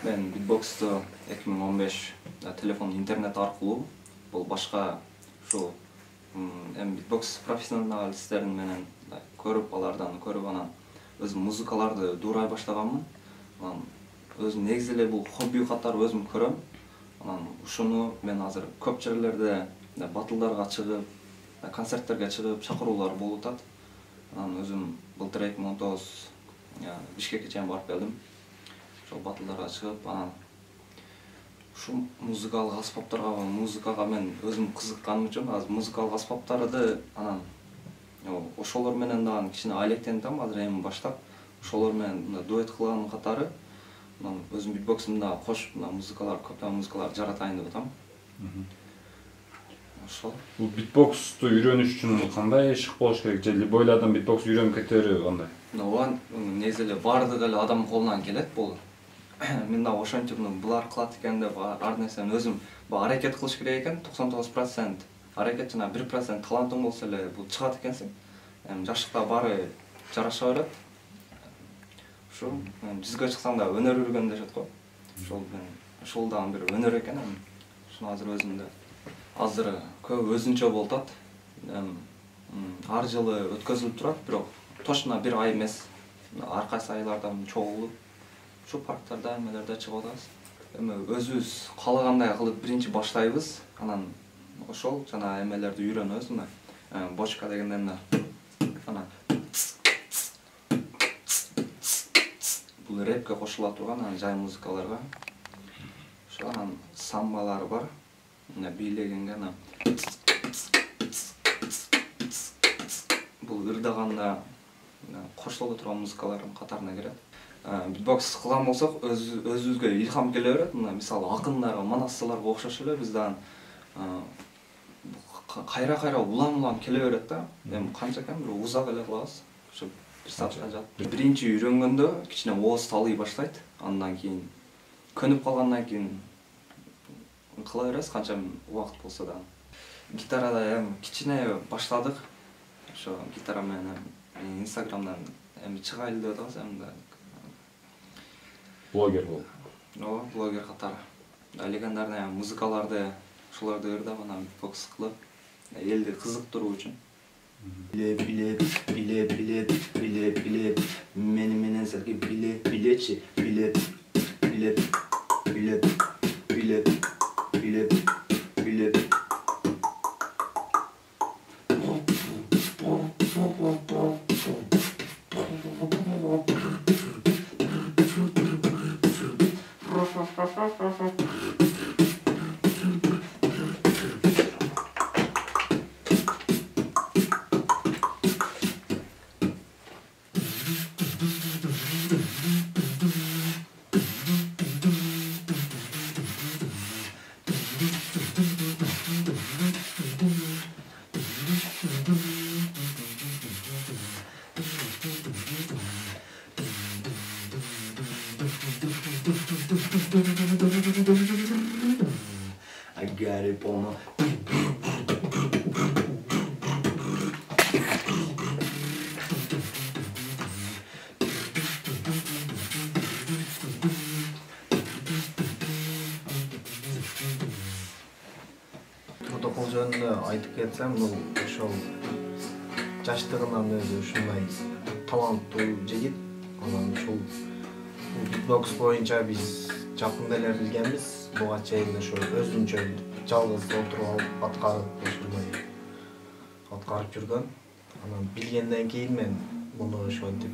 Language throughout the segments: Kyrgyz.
Мен битбоксту 2015 телефон, интернет аркылуу бул башка ушу эми битбокс профессионалисттерин менен көрүп, алардан көрүп анан өзүм музыкаларды дуурай баштаганмын. Анан өзүм негизи эле бул хобби катары өзүм көрөм. Анан ушуну мен азыр көп жерлерде батылдарга чыгып, концерттерге чыгып, чакыруулар болуп атат. Анан өзүм былтыр 2019 Бишкекке чейин барып келдим. Ошол батылдарга чыгып, анан ушу музыкалык аспаптарга, музыкага мен өзүм кызыкканым үчүн азыр музыкалык аспаптарды анан ошолор менен дагы кичине алектенип атам азыр эми баштап. Ошолор менен дуэт кылган катары анан өзүм битбоксумда кошуп музыкалар, көптөгөн музыкаларды жаратайын деп атам. Ошол. Бул битбоксту үйрөнүш үчүн кандай ишик болуш керек? Же любой эле адам битбокс үйрөнүп кете береби кандай? Ооба, негизи эле баардык эле адам колунан келет бул. Мен дагы ошентип булар кылат экен деп ар нерсени өзүм аракет кылыш керек экен. 99% аракет жана 1% талантың болсо эле бул чыгат экенсиң. Эми жаштыкта баары жараша берет. Ошо жүзгө чыксаң да өнөр үргөн дешет го. Ошол дагы бир өнөр экен. Ушуну азыр өзүмдө азыр көп өзүнчө болуп атат. Ар жылы өткөзүлүп турат, бирок точно бир ай эмес. Ар кайсы айлардан чогулуп, ушу парктарда, эмелерде чыгып атабыз. Эми өзүбүз каалагандай кылып биринчи баштайбыз, анан ошол жана эмелерди үйрөнөбүз. Бочка дегенден анан бул рэпке кошула турган жай музыкаларга. Ошо анан самбалар бар. Бийлегенге анан бул ырдаганда кошуло турган музыкалардын катарына кирет. Битбокс кылган болсок өзүбүзгө илхам келе берет. Мисалы акындарга, манассыларга окшош эле биз дагы кайра улам келе берет да. Эми канча экен бир узак эле кылабыз. Ошо бир саатка жатып. Биринчи үйрөнгөндө кичине ооз талый баштайт. Андан кийин көнүп калгандан кийин кыла беребиз канча убакыт болсо да. Гитарада эми кичине баштадык. Ошо гитара менен Инстаграмдан эми чыгайлы деп атабыз эми. Блогер болуп. Ооба, блогер катары. Легендарный музыкаларды ошолорду ырдап анан битбокс кылып, элди кызыктыруу үчүн. Билеп, мени менен силги билечи, билеп. I got it on my протокол жөнүндө айтып кетсем, бул ошол жаштыгынан өзү ушундай таланттуу жигит. Анан ушул битбокс боюнча биз жакында эле билгенбиз. Буга чейин ошо өзүнчө жалгыз отуруп алып аткарып жүргөн. Анан билгенден кийин мен муну ошентип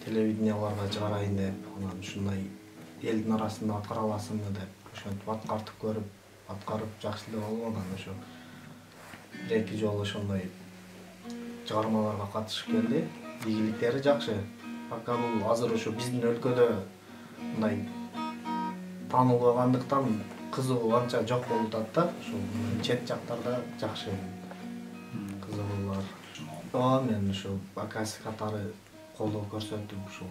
телевиденияларга чыгарайын деп, анан ушундай элдин арасында аткара аласыңбы деп ошентип аткартып көрүп, аткарып жакшы эле болду. Анан ошо бир-эки жолу ошондой чыгармаларга катышып келди. Ийгиликтери жакшы. Пока бул азыр ошо биздин өлкөдө мындай таанылбагандыктан кызыгуу анча жок болуп атат да. Ошол чет жактарда жакшы кызыгуулар. Мен ошо акасы катары колдоо көрсөтүп ушул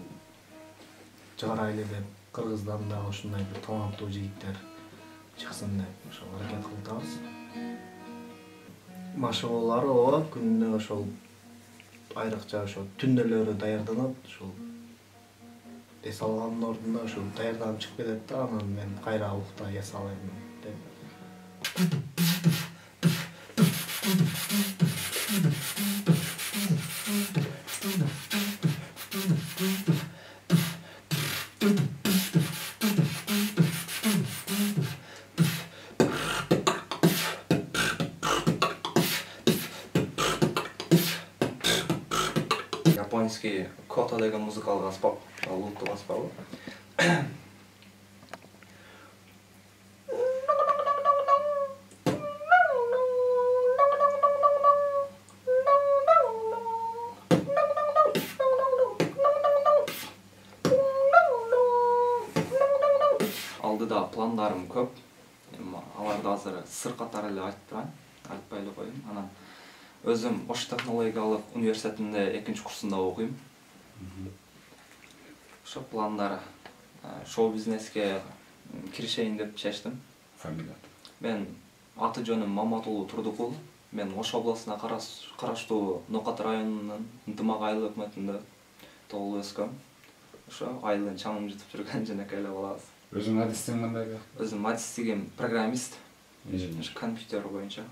чыгарайлы деп, Кыргыздан дагы ушундай бир таланттуу жигиттер чыксын деп ошол аракет кылып атабыз. Машыгуулары ооба күнүнө ошол айрыкча ошо түнделери даярданат. Ошол эс алгандын ордуна ушу даярданып чыгып кетет да, анан мен кайра уктай эс алайын деп. Японский кота деген музыкалык аспап, луттук аспабы. Алдыда пландарым көп. Аларды азыр сыр катары эле айтып турайын, айтпай эле коеюн. Анан өзүм Ош технологиялык университетинде 2-курсунда окуйм. Ошо пландар шоу бизнеске киришейин деп чечтим. Фамилия. Мен аты жөнүм Маматулуу Турдукул. Мен Ош областына караштуу Нокат районунун Ынтымак айыл өкмөтүндө туулуп өскөм. Ошо айылдын чаңын жутуп жүргөн женекей эле балабыз. Өзүң адистигиң кандай? Өзүм адистигим программист. Инженер. Компьютер боюнча.